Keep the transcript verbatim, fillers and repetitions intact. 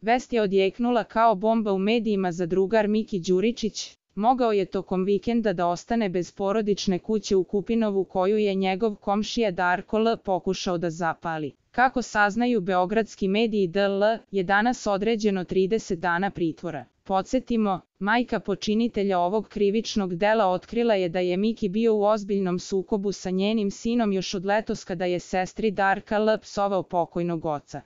Vest je odjeknula kao bomba u medijima za drugar Miki Đuričić. Mogao je tokom vikenda da ostane bez porodične kuće u Kupinovu koju je njegov komšija Darko L. pokušao da zapali. Kako saznaju beogradski mediji, D L je danas određeno trideset dana pritvora. Podsjetimo, majka počinitelja ovog krivičnog dela otkrila je da je Miki bio u ozbiljnom sukobu sa njenim sinom još od letos kada je sestri Darka L. psovao pokojnog oca.